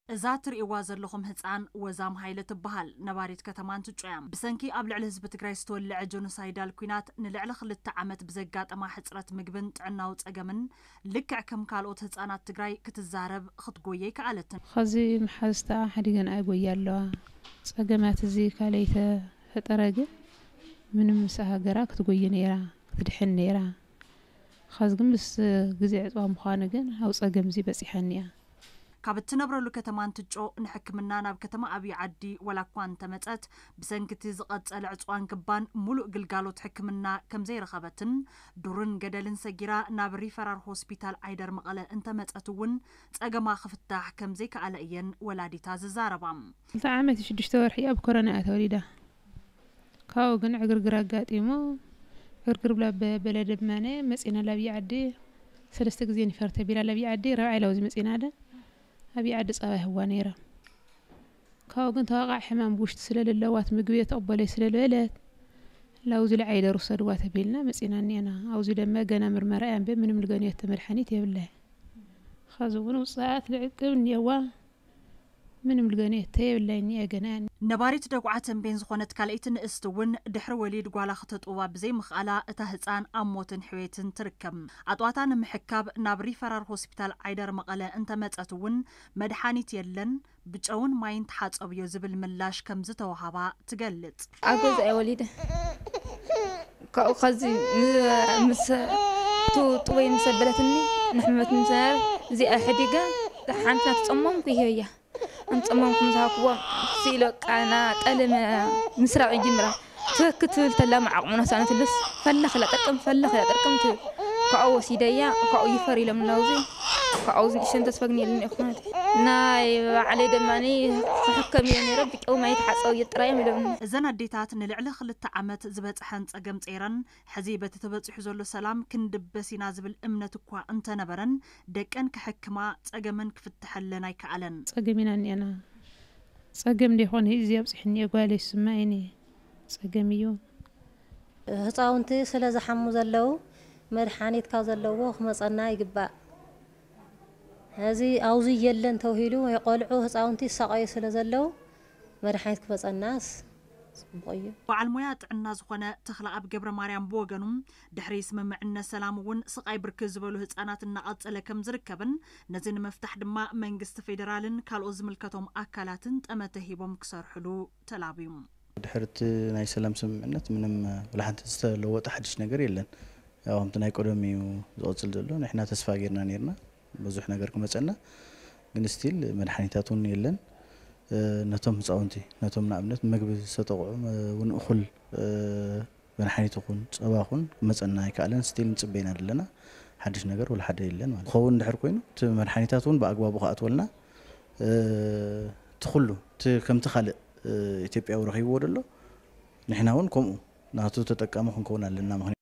እዛ ትርእይዋ ዘለኹም ህፃን ወዛም ሃይለ ትበሃል። ነባሪት ከተማ እንትጮ እያ። ብሰንኪ ኣብ ልዕሊ ህዝቢ ትግራይ ዝተወለዐ ጆኖሳይዳል ኲናት ንልዕሊ ክልተ ዓመት ብዘጋጠማ ሕፅረት ምግብን ጥዕናዊ ፀገምን ልክዕ ከም ካልኦት ህፃናት ትግራይ ክትዛረብ ክትጎየ ኣይከኣለትን። ኸዚ መሓዝተኣ ሓዲገን ኣይጎያ ኣለዋ። ጸገማት እዚ ካልኣይ ተፈጠረ ግን ምንም ምስ ሃገራ ክትጎይ ነይራ፣ ክትድሕን ነይራ። ኸዚ ግን ምስ ግዜ ዕጽዋ ምዃኑ ግን ኣብ ጸገም እዚ በጺሓ እኒኣ። ካብ እትነብረሉ ከተማ እንትጮ ንሕክምና ናብ ከተማ ኣብይ ዓዲ ወላ እኳ እንተመጸት፣ ብሰንኪ እቲ ዝቐጸለ ዕጽዋን ክባን ሙሉእ ግልጋሎት ሕክምና ከም ዘይረኸበትን ዱርን ገደልን ሰጊራ ናብ ሪፈራል ሆስፒታል ዓይደር መቐለ እንተመጸት እውን ጸገማ ክፍታሕ ከም ዘይከኣለ እየን ወላዲታ ዝዛረባ። ክልተ ዓመት ሽዱሽተ ወርሒ ኣብ ኮሮና እያ ተወሊዳ። ካብኡ ግን ዕግርግር ኣጋጢሙ፣ ዕግርግር ብላ በ-፣ በለ ድማ መጺና ላብይ ዓዲ ሰለስተ ግዜ ኒፈር ተቢላ ላብይ ዓዲ፣ ራብዓይ ላውዚ መጺና ደ ኣብይ ዓዲ ጸባ ይህዋ ነይራ። ካብኡ ግን ተዋቃዕ ሕማም ብውሽጢ ስለ ለለዋት ምግቢ የተቕበለይ ስለ ዝበለት ላውዚ ልዓይደር ውሰድዋ ተቢልና መጺና እኒአና። ኣውዚ ደመ ገና ምርመራ እያ እምበር ምንም ልገንዮተ መድሓኒት የብላይ። ኸዚ እውን ውፅኣት ልዕቅብ እኒአዋ ምንም ልገንዮተ የብላይ እኒአ ገና እያ። ነባሪት ደጉዓ ተንቤን ዝኾነት ካልኣይቲ ንእስቲ እውን ድሕሪ ወሊድ ጓላ ክተጥውባ ብዘይምኽኣላ እታ ህፃን ኣብ ሞትን ሕዌትን ትርከብ። ኣጥዋታ ንምሕካብ ናብ ሪፈራል ሆስፒታል ዓይደር መቐለ እንተመፀት እውን መድሓኒት የለን፣ ብጨውን ማይን ተሓፀብዮ ዝብል ምላሽ ከም ዝተወሃባ ትገልፅ። ኣብ ገዛ እየ ወሊደ። ካብኡ ኸዚ ን-፣ ምስ ቱ-፣ ጥወይ ምስ ኣበለትኒ ንሕመመትኒ ምስ ነበረ እዚኣ ሕዲገ ሓንቲ ናትፀመምኩ ይህበያ። እንፀመምኩ ምስ ሃብኩዋ ስኢለ ቃና ጠለመ ምስራቕ ይጅምራ። ትክ ትብል ተላ መዓቕሙና ሳነትልስ ፈለኽ ኢላ ጥርቅም፣ ፈለኽ ኢላ ጥርቅም ትብል። ካብኡ ወሲደያ፣ ካብኡ ይፈር ኢሎም ናውዚ። ካብኡ ዝንእሽተን ተስፋ ግን የለን እኮ ማለት እዩ። ናይ ባዕለይ ደማኒ ክሕከም እየ ነይረ፣ ብጨው ማይ ተሓፀው እየ ጥራይ እዮም ኢሎምኒ። እዘን ኣዴታት ንልዕሊ ክልተ ዓመት ዝበፅሐን ፀገም ፀይረን፣ ሕዚ በቲ ተበፂሑ ዘሎ ሰላም ክንድበስ ኢና ዝብል እምነት እኳ እንተነበረን፣ ደቀን ክሕክማ ፀገመን ክፍትሐለን ኣይከኣለን። ፀገም ኢና እኒአና። ፀገም እንዲኾን እዚ ኣብፅሕኒ ጓለይ ስማ እኔ ፀገም እዩ። ህፃውንቲ ስለ ዝሓሙ ዘለዉ መድሓኒት ካብ ዘለዎ ክመፀና ይግባእ። ሕዚ ኣውዚ የለን ተውሂሉ ወይ ቆልዑ ህፃውንቲ ይሳቐዩ ስለ ዘለዉ መድሓኒት ክመፀናስ ፅቡቕ እዩ። በዓል ሞያ ጥዕና ዝኾነ ተኽለኣብ ገብረ ማርያም ብወገኑ፣ ድሕሪ ስምምዕነት ሰላም እውን ስቓይ ብርክት ዝበሉ ህፃናት እናቐፀለ ከም ዝርከብን ነዚ ንምፍታሕ ድማ መንግስቲ ፌዴራልን ካልኦት ዝምልከቶም ኣካላትን ጠመተ ሂቦም ክሰርሕሉ ተላብዩ። ድሕሪ እቲ ናይ ሰላም ስምምዕነት ምንም፣ እ፣ ወላ ሓንቲ ዝተለወጠ ሓድሽ ነገር የለን። ያው ከምቲ ናይ ቀደም እዩ ዝቕጽል ዘሎ። ንሕና ተስፋ ጌርና ኔርና ብዙሕ ነገር ክመጸና፣ ግን ስቲል መድሓኒታት እውን የለን። እ፣ ነቶም ህፃውንቲ፣ ነቶም ንኣብነት መግቢ ዝተጠቕዑ፣ እ፣ እውን እኹል፣ እ፣ መድሓኒት ይኹን ጸባ ይኹን ክመጸና ኣይከኣለን። ስቲል ንጽበ ኢና ዘለና። ሓድሽ ነገር ወላ ሓደ የለን ማለት እዩ። ክኸውን ድሕር ኮይኑ እቲ መድሓኒታት እውን ብኣግባቡ ክኣትወልና፣ እ፣ እቲ ኩሉ እቲ ከምቲ ካልእ፣ እ፣ ኢትዮጵያዊ ረኺብዎ ደሎ ንሕና እውን ከምኡ ናቱ ተጠቃሚ ክንከውን ኣለና።